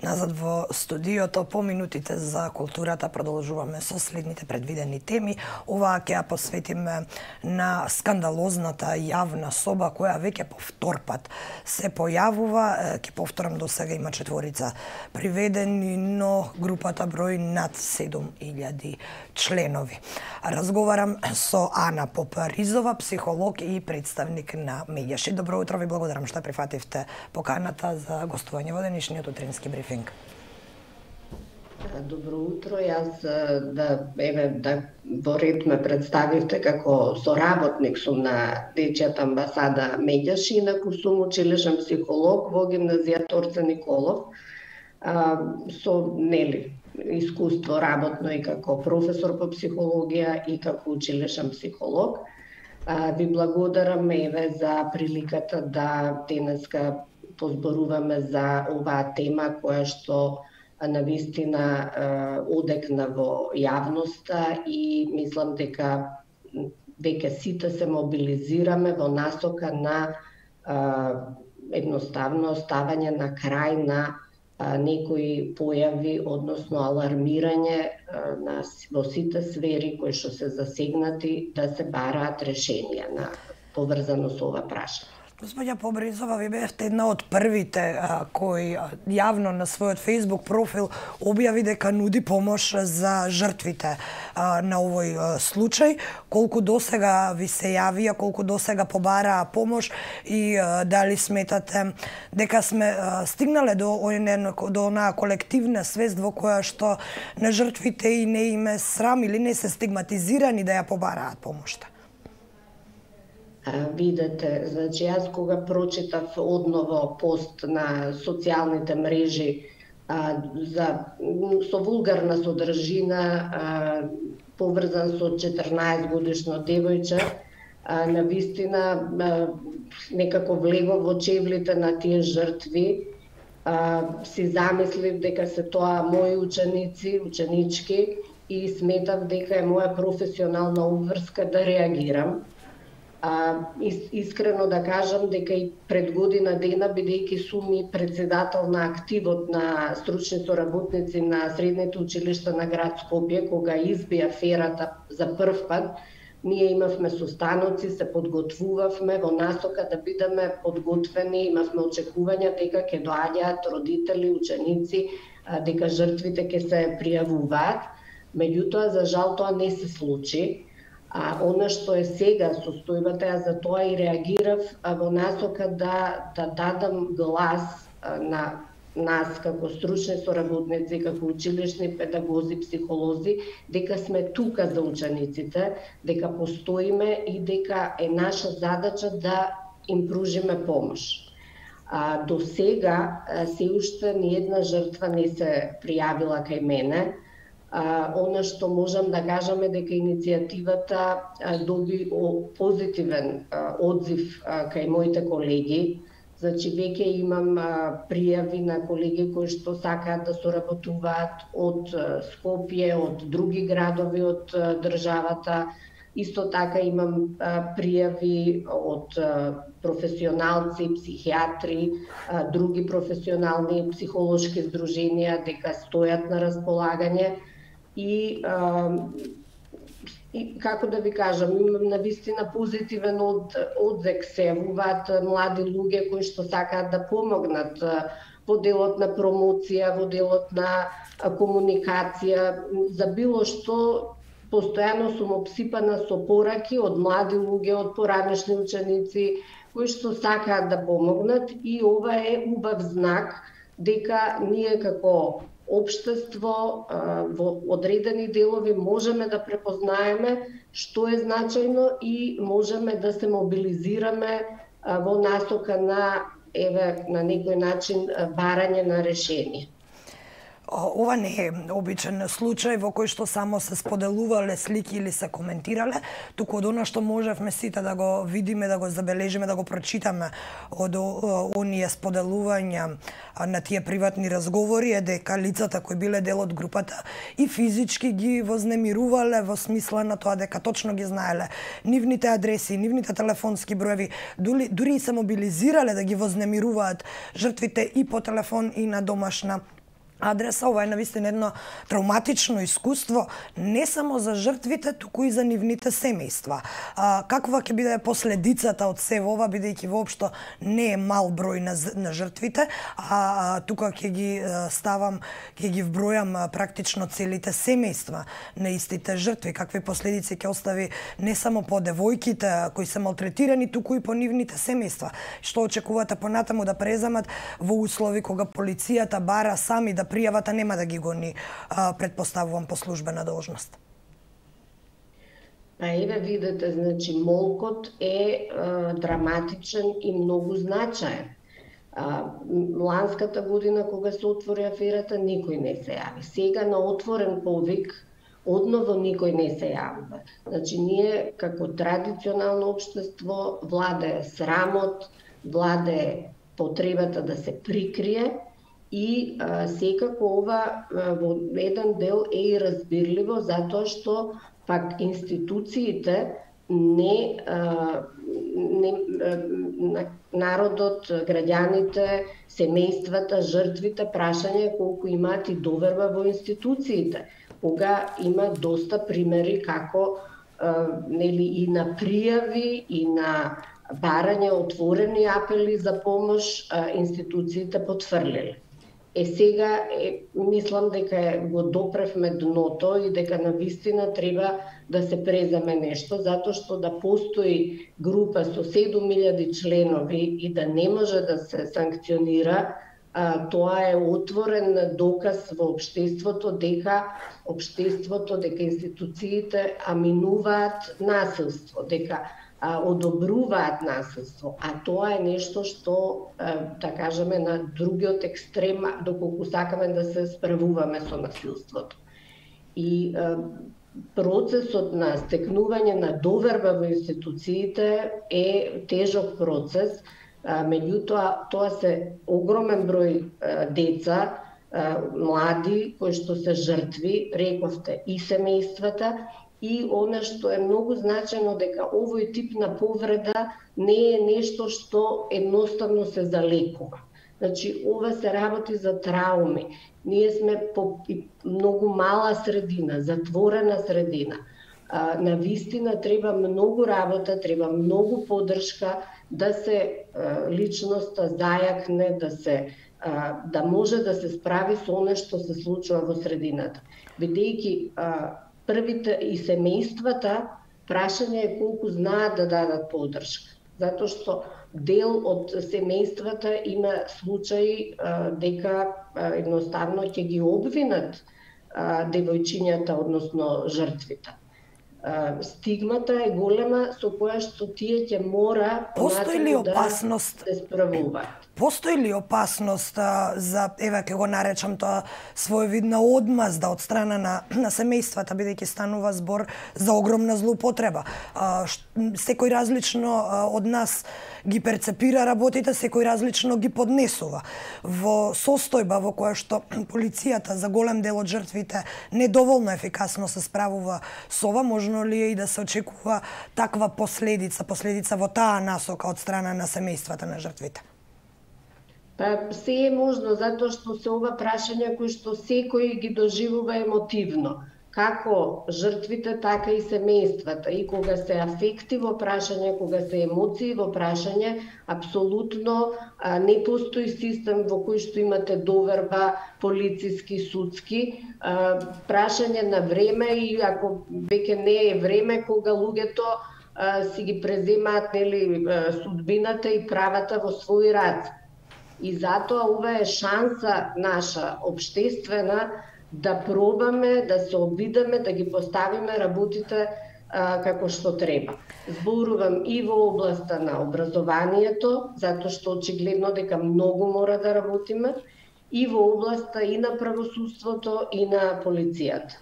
Назад во студиото, по минутите за културата продолжуваме со следните предвидени теми. Оваа ќе ја посветиме на скандалозната јавна соба која веќе по втор пат се појавува. Ќе повторам, до сега има 4 приведени, но групата брои над 7000 членови. Разговарам со Ана Попаризова, психолог и представник на Медјаши. Добро утро, ви благодарам што прифативте поканата за гостување во денешниот утрински брифинг. Добро утро, јас во ред ме представивте како соработник сум на Дечјата амбасада Медјаши, инаку сум училишен психолог во гимназија Торце Николов, со искуство работно и како професор по психологија и како училишен психолог. Ви благодарам за приликата да денеска позборуваме за оваа тема која што навистина одекна во јавноста и мислам дека веќе сите се мобилизираме во насока на едноставно ставање на крај на некои појави, односно алармирање во сите сфери кои што се засегнати да се бараат решенија на поврзано со ова прашање. Господја Попаризова, ви бевте една од првите кои јавно на својот Facebook профил објави дека нуди помош за жртвите на овој случај. Колку досега ви се јавија, колку досега побараа помош и дали сметате дека сме стигнале до онаа колективна свест во која што на жртвите и не име срам или не се стигматизирани да ја побараат помошта? Видете, значи јас кога прочитав одново пост на социјалните мрежи со вулгарна содржина поврзан со 14 годишно девојче, навистина некако влегов во чевлите на тие жртви, си замислив дека се тоа мои ученици, ученички и сметав дека е моја професионална обврска да реагирам. Искрено да кажам дека и пред година дена, бидејќи сум и председател на активот на стручни соработници на средните училишта на град Скопје, кога изби аферата за прв пат, ние имавме состаноци, се подготвувавме во насока да бидеме подготвени, имавме очекувања дека ќе доаѓаат родители, ученици, дека жртвите ќе се пријавуваат. Меѓутоа, за жал, тоа не се случи. Она што е сега состојбата, ја за тоа и реагирав во насока да дадам глас на нас како стручни соработници, како училишни педагози, психолози, дека сме тука за учениците, дека постоиме и дека е наша задача да им пружиме помош. До сега се уште ни една жртва не се пријавила кај мене. Она што можам да кажам е дека иницијативата доби позитивен одзив кај моите колеги. Значи, веќе имам пријави на колеги кои што сакаат да соработуваат од Скопје, од други градови од државата. Исто така имам пријави од професионалци, психијатри, други професионални психолошки здруженија дека стојат на располагање. И како да ви кажам, имам навистина позитивен одзек се јавуваат млади луѓе кои што сакаат да помогнат во делот на промоција, во делот на комуникација, за било што. Постојано сум обсипана со пораки од млади луѓе, од поранешни ученици кои што сакаат да помогнат и ова е убав знак дека ние како општество во одредени делови можеме да препознаеме што е значајно и можеме да се мобилизираме во насока на некој начин барање на решение. Ова не е обичен случај во кој што само се споделувале слики или се коментирале, туку од она што можевме сите да го видиме, да го забележиме, да го прочитаме од оние споделувања на тие приватни разговори е дека лицата кои биле дел од групата и физички ги вознемирувале во смисла на тоа дека точно ги знаеле нивните адреси, нивните телефонски броеви, дури и се мобилизирале да ги вознемируваат жртвите и по телефон и на домашна адреса. Ова е навистина едно травматично искуство не само за жртвите, туку и за нивните семејства. Каква ќе биде последицата од се ова, бидејќи воопшто не е мал број на жртвите, а тука ќе ги вбројам практично целите семејства на истите жртви, какви последици ќе остави не само по девојките кои се малтретирани, туку и по нивните семејства. Што очекувате понатаму да преземат во услови кога полицијата бара сами да пријавата, нема да ги гони, предпоставувам, по службена должност? Еве видите, значи молкот е драматичен и многу значаен. Ланската година кога се отвори аферата, никој не се јави. Сега на отворен повик одново никој не се јавува. Значи ние како традиционално општество владее срамот, владее потребата да се прикрие. И секако ова во еден дел е и разбирливо, затоа што пак институциите народот, граѓаните, семејствата, жртвите, прашање колку имаат и доверба во институциите. Кога има доста примери како и на пријави и на барање отворени апели за помош, институциите потврлиле. Сега мислам дека го допревме дното и дека навистина треба да се преземе нешто, затоа што да постои група со 7000 членови и да не може да се санкционира, тоа е отворен доказ во општеството дека институциите аминуваат насилство, дека одобруваат насилство, а тоа е нешто што, да кажеме, на другиот екстрем, доколку сакаме да се справуваме со насилството. И процесот на стекнување на доверба во институциите е тежок процес, меѓутоа тоа се огромен број деца, млади кои што се жртви, рековте, и семејствата. И она што е многу значено дека овој тип на повреда не е нешто што едноставно се залекува. Значи, ова се работи за трауми. Ние сме по многу мала средина, затворена средина. Навистина треба многу работа, треба многу поддршка да се личноста зајакне, да може да се справи со она што се случува во средината. Бидејќи првите и семејствата, прашање е колку знаат да дадат поддршка. Затоа што дел од семејствата има случаи дека едноставно ќе ги обвинат девојчињата, односно жртвите. Стигмата е голема со која што тие ќе мора да се справуваат. Постои ли опасност за, еве ќе го наречам тоа, своевидна одмазда од страна на семејствата, бидејќи станува збор за огромна злоупотреба? Секој различно од нас ги перцепира работите, секој различно ги поднесува. Во состојба во која што полицијата за голем дел од жртвите недоволно ефикасно се справува со ова, можно ли е и да се очекува таква последица во таа насока од страна на семејствата на жртвите? Се е можно, затоа што се ова прашања кои што секој ги доживува емотивно. Како жртвите, така и семејствата. И кога се афекти во прашање, кога се емоции во прашање, апсолутно не постои систем во кој што имате доверба полициски, судски. Прашање на време и ако веќе не е време, кога луѓето си ги преземаат судбината и правата во свој раце. И затоа ова е шанса наша општествена да пробаме, да се обидеме, да ги поставиме работите како што треба. Зборувам и во областа на образованието, затоа што очигледно дека многу мора да работиме, и во областа и на правосудството и на полицијата.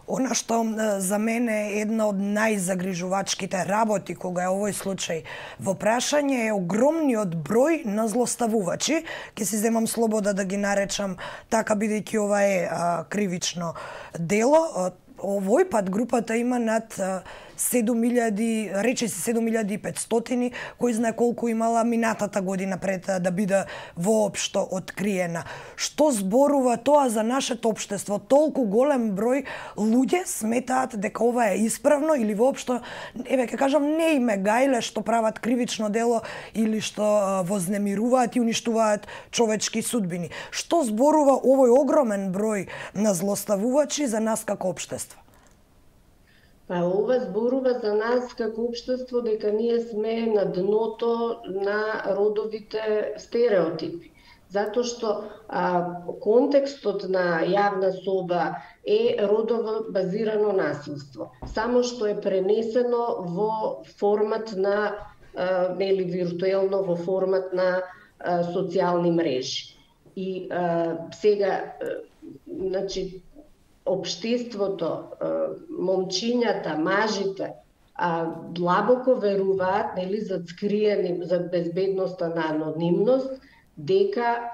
Она што за мене е една од најзагрижувачките работи кога е овој случај во прашање е огромниот број на злоставувачи. Ке си земам слобода да ги наречам така, бидејќи ова е кривично дело. Овој пат групата има над 7000, речиси 7500, кој знае колку имала минатата година пред да биде воопшто откриена. Што зборува тоа за нашето општество? Толку голем број луѓе сметаат дека ова е исправно или воопшто, еве ќе кажам, не име гајле што прават кривично дело или што вознемируваат и уништуваат човечки судбини. Што зборува овој огромен број на злоставувачи за нас како општество? Па ова зборува за нас како општество дека ние сме на дното на родовите стереотипи. Затоа што контекстот на јавна соба е родово базирано насилство, само што е пренесено во формат на или виртуелно во формат на социјални мрежи. И сега, значи, општеството, момчињата, мажите, длабоко веруваат, нели, зад скриени, зад безбедноста на анонимност, дека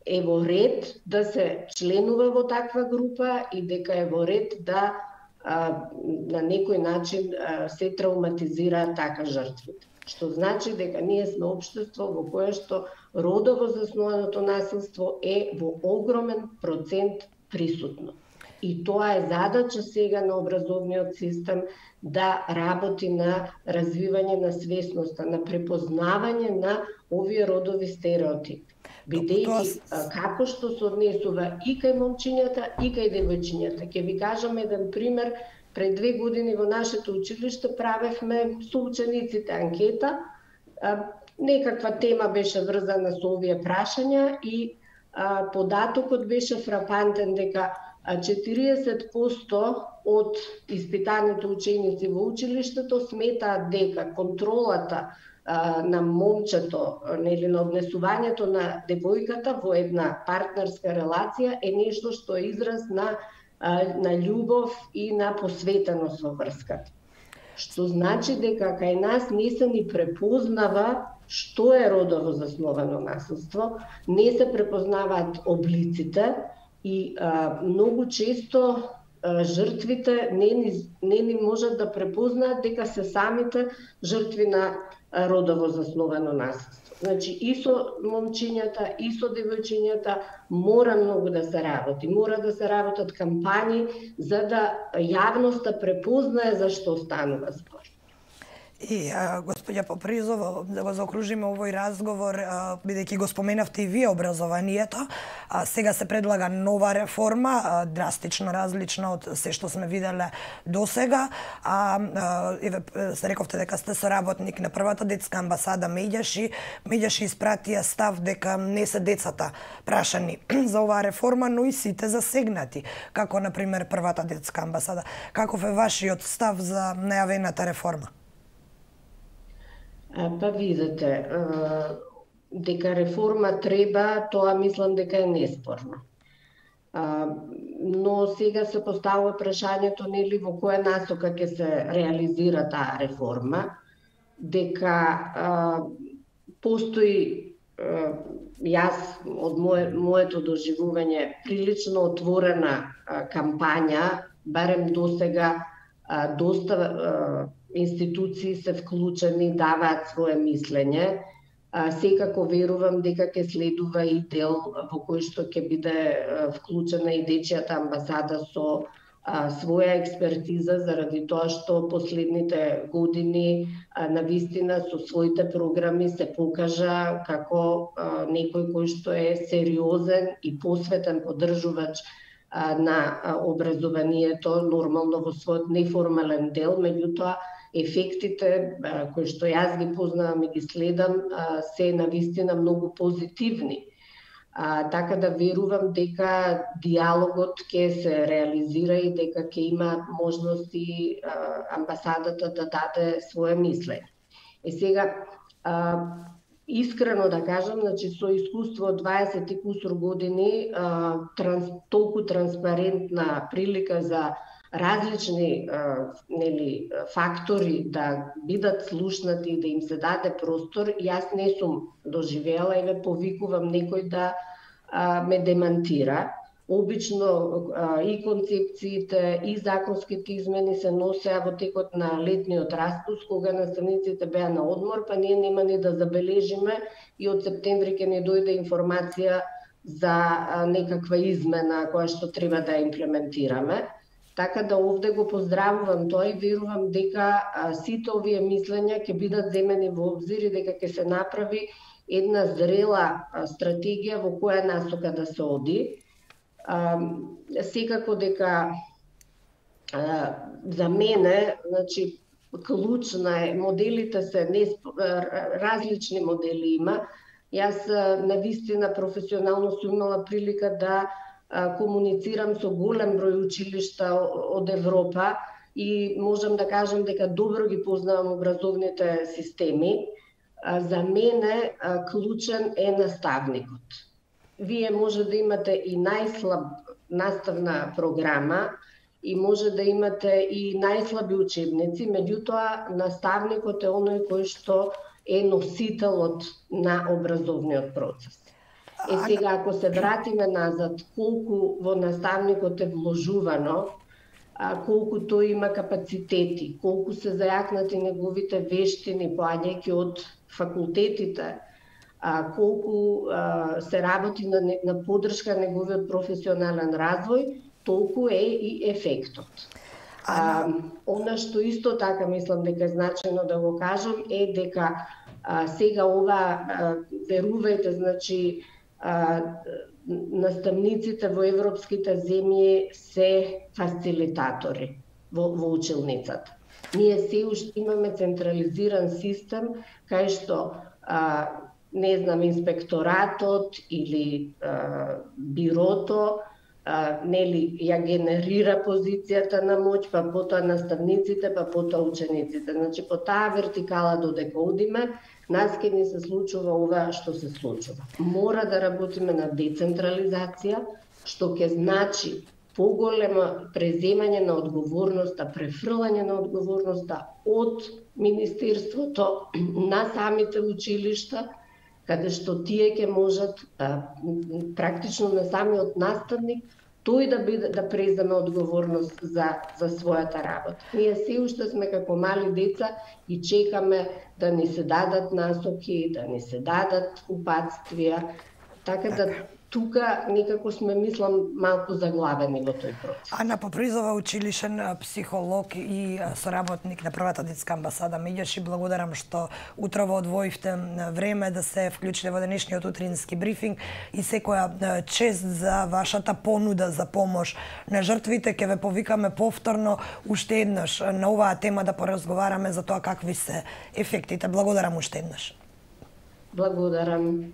е во ред да се членува во таква група и дека е во ред да на некој начин се травматизираат така жртвите. Што значи дека ние сме општество во кое што родово заснованото насилство е во огромен процент присутно. И тоа е задача сега на образовниот систем да работи на развивање на свесноста, на препознавање на овие родови стереотипи. Бидејќи како што се однесува и кај момчињата и кај девојчињата. Ќе ви кажам еден пример. Пред 2 години во нашето училиште правевме со учениците анкета. Некаква тема беше врзана со овие прашања и податокот беше фрапантен дека 40% од испитаните ученици во училиштето сметаат дека контролата на момчето, нели, на однесувањето на девојката во една партнерска релација е нешто што е израз на љубов и на посветеност во врската. Што значи дека кај нас не се ни препознава што е родово засновано насилство, не се препознаваат облиците и многу често жртвите не ни можат да препознаат дека се самите жртви на родово засновано насилство. Значи, и со момчињата, и со девојчињата мора многу да се работи. Мора да се работат кампањи за да јавноста препознае за што станува збор. И, господја Попризова, да го заокружиме овој разговор, бидејќи го споменавте и вие образованието, сега се предлага нова реформа, драстично различна од се што сме виделе досега. Еве, рековте дека сте соработник на првата детска амбасада Меѓаши. Меѓаши испратија став дека не се децата прашани за оваа реформа, но и сите засегнати, како, например, првата детска амбасада. Каков е вашиот став за најавената реформа? Па видите, дека реформа треба, тоа мислам дека е неспорно. Но сега се поставува прашањето, нели, во која насока ќе се реализира таа реформа, дека постои, јас од моето доживување, прилично отворена кампања, барем досега доста институции се вклучени, даваат свое мислење. Секако верувам дека ќе следува и дел во кој што ќе биде вклучена и дечијата амбасада со своја експертиза, заради тоа што последните години навистина со своите програми се покажа како некој кој што е сериозен и посветен поддржувач на образованието, нормално во својот неформален дел, меѓутоа ефектите кои што јас ги познавам и ги следам се навистина многу позитивни. Така да верувам дека диалогот ќе се реализира и дека ќе има можности амбасадата да даде свое мислење. И сега, искрено да кажам, значи со искуство од 20 и кусур години, толку транспарентна прилика за различни фактори да бидат слушнати и да им се даде простор, јас не сум доживела и ве повикувам некој да ме демантира. Обично и концепциите и законските измени се носеа во текот на летниот распуст, кога наставниците беа на одмор, па ние нема ни да забележиме и од септември ќе ни дојде информација за некаква измена која што треба да имплементираме. Така да овде го поздравувам тоа и верувам дека сите овие мислења ќе бидат земени во обзир и дека ќе се направи една зрела стратегија во која насока да се оди. Секако дека за мене, значи, клучна е, моделите се различни модели има. Јас навистина професионално сум имала прилика да комуницирам со голем број училишта од Европа и можам да кажам дека добро ги познавам образовните системи. За мене клучен е наставникот. Вие може да имате и најслаб наставна програма и може да имате и најслаби учебници, меѓутоа наставникот е оној кој што е носителот на образовниот процес. Сега, ако се вратиме назад, колку во наставникот е вложувано, колку тој има капацитети, колку се зајакнати неговите вештини, поаѓајќи од факултетите, колку се работи на поддршка на неговиот професионален развој, толку е и ефектот. Она што исто така мислам дека е значено да го кажам е дека сега ова, верувајте, значи, наставниците во европските земји се фасилитатори во училницата. Ние се уште имаме централизиран систем кај што не знам, инспекторатот или бирото нели ја генерира позицијата на моќ, па потоа наставниците, па потоа учениците. Значи по таа вертикала додека одиме, нас ќе ни се случува ова што се случува. Мора да работиме на децентрализација, што ќе значи поголемо преземање на одговорноста, префрлање на одговорноста од Министерството на самите училишта, каде што тие ќе можат практично на самиот наставник тој да преземе одговорност за својата работа. Ние се уште сме како мали деца и чекаме да ни се дадат насоки, да ни се дадат упатствија, така да тука некако сме, мислам, малку заглавени во тој процес. Ана Попризова, училишен психолог и соработник на првата детска амбасада Меѓаш, и благодарам што утрово одвоивте време да се вклучите во денешниот утрински брифинг и секоја чест за вашата понуда за помош на жртвите. Ќе ве повикаме повторно уште еднаш на оваа тема да поразговараме за тоа какви се ефектите. Благодарам уште еднаш. Благодарам.